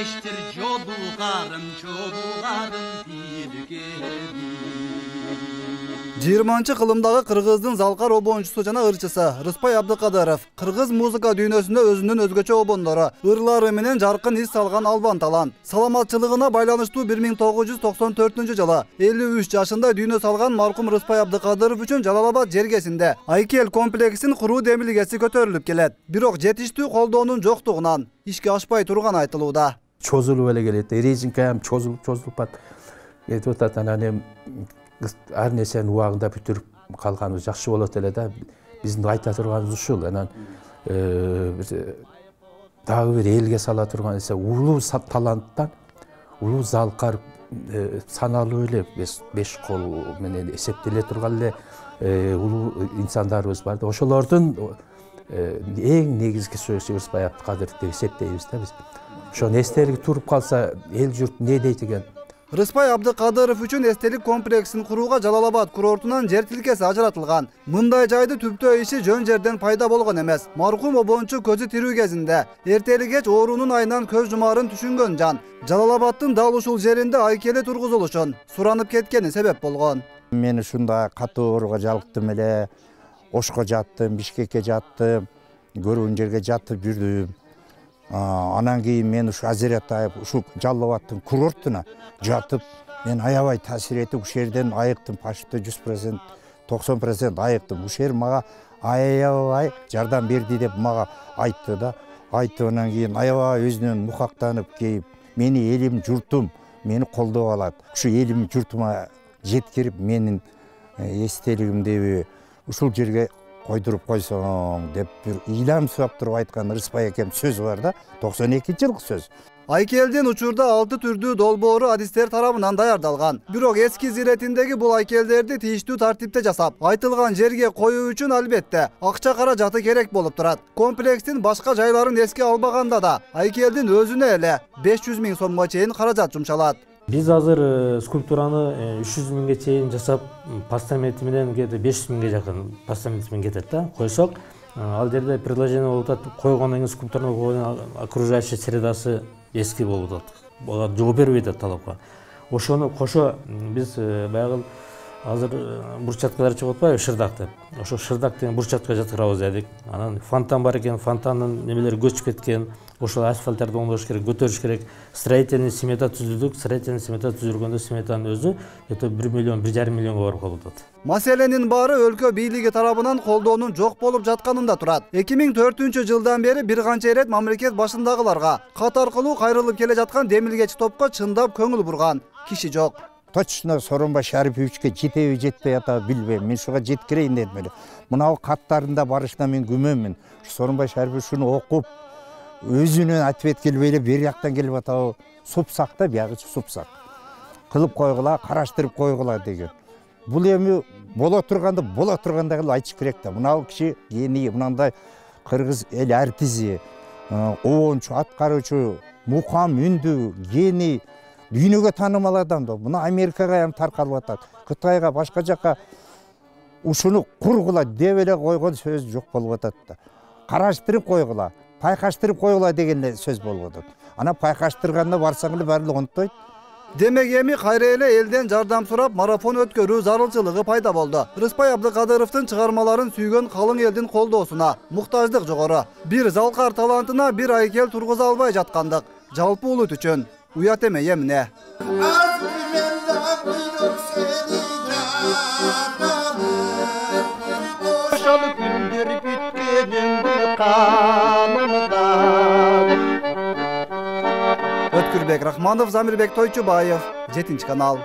Eştir çoluğarım tilgedi. 20-кылымдагы Кыргыздын залкар обончусу жана ырчысы Рыспай Абдыкадыров кыргыз музыка дүйнөсүндө өзүнүн өзгөчө обондору, ырлары менен жаркын из салган албан талант. Саламатчылыгына байланыштуу 1994-жылы 53 жашында дүйнө салган маркум Рыспай Абдыкадыров үчүн Жалал-Абад жергесинде Айкел комплексин куруу демилгеси көтөрүлүп келет. Бирок жетиштүү колдоонун жоктугунан ишке ашпай турган айтылууда. Чозулуп эле келет. Резинка ham чозулуп бат. Кетип атат, анан ар нерсени убагында бүтүрүп калганыбыз жакшы болот эле да. Биздин айта турганыбыз ушул. Анан дагы бир элге сала турган нерсе улуу таланттан, улуу залкар саналуу эле 5 кол менен эсептеле турган эле улуу инсандарыбыз бар да. Ошолордун эң негизги сөзү Рыспай Абдыкадыров деп эсептейбиз да биз. Ошону эстелиги туруп калса эл журт не дейт экен? Рыспай Абдыкадыров үчүн эстелик комплексин курууга Жалал-Абад курортунан жер тилкеси ажыратылган. Мындай жайды түптөө иши жөн жерден пайда болгон эмес. Маркум обончу көзү тирүү кезинде эртели кеч оорунун айынан көз жумаарын түшүнгөн жан Жалал-Абадтын дал ушул жеринде айкели тургузулушун суранып кеткени себеп болгон. Мен ушундай катуу ооруга жалыктым эле. Ошко жаттым, Бишкекке жаттым, көрүүн жерге жатып жүрдүм. Анан кийин мен ушу Азиратайып, ушу Жалал-Абадтын курортуна жатып, мен аябай таасир этип, ушул жерден айыктым, почти 100%, 90% айыктым. Ушул жер мага аябай жардам берди деп мага айтты да. Айтты, анан кийин аябай өзүнөн мукактанып кейип, мени элим, журтум мени колдоп алат. Ушу элим, журтума жеткирип, менин эстелигимди ушул жерге койдуруп койсоң деп бир ыйлам сурап туруп айткан Рыспай экем сөз бар да, 92-жылкы сөз. Айкелдин учурда 6 түрдүү долбоору адистер тарабынан даярдалган. Бирок эски иретиндеги бул айкелдерди тийиштүү тартипте жасап, айтылган жерге коюу үчүн албетте акча каражаты керек болуп турат. Комплекстин башка жайларын эске албаганда да айкелдин өзүнө эле 500 000 сомго чейин каражат жумшалат. Биз азыр скульптураны 300 000ге чейин жасап, постаменти менен 500 000ге жакын постаменти менен кетет да. Койсок, ал жерде предложение болуп атат, койгондон кийин скульптураны койгондон окружающий средасы эски болуп атат. Буга жооп бербей атат талапка. Ошону кошо биз баягы азыр бурчаткалар чыгып атпайбы, шырдак деп. Ошо шырдак деген бурчатка жаткырабыз дедик. Анан фонтан бар экен, фонтандын немелери көчүп кеткен. Ошол асфальттарды оңдош керек, көтөрүш керек. Строительный смета түзүдүк. Строительный смета түзүлгөндө сметанын өзү 1 миллион, 1,5 миллионго барып калып атат. Маселенин баары өлкө бийлиги тарабынан колдоонун жок болуп жатканында турат. 2004-жылдан бери бир канча ирет мамлекет башындагыларга кат аркылуу кайрылып келе жаткан демилгечи топко чындап көңүл бурган киши жок. Точно Сооронбай Шариповичке жетеби жетпей атабы билбейм. Мен шуга жеткирейин дедим эле. Мынау каттарында барышына мен күмөнмүн. Сооронбай Шарипович шуну окуп, өзүнүн ответ келбей эле бери жактан келип атабы. Супсак да, биягычы супсак. Кылып койгула, караштырып койгула деген. Бул эми боло тургандай кылып айтыш керек да. Мынау киши гений, мындай кыргыз эл артизи, обончу, аткаруучу, мукам, үндү, гений, дүйнөгө таанымал адам да. Мына Америкага ham таркалып атат. Кытайга, башка жакка ушуну кургула деп эле койгон сөз жок болуп атат да. Караштырып койгула, пайкаштырып койгула деген сөз болуп атат. Ана пайкаштырганда барсаң эле баары онтойт. Демек эми кайра эле элден жардам сурап марафон өткөрүү зарылчылыгы пайда болду. Рыспай Абдыкадыровдун чыгармаларын сүйгөн калың элдин колдоосуна муктаждык жогору. Бир залкар талантына бир айкел тургуза албай жаткандык жалпы улут үчүн уят эмей эмне. Ошол күндөр бүткөнүңдү канымдан. Өткүрбек Рахманов, Замирбек Тойчубаев, 7 канал.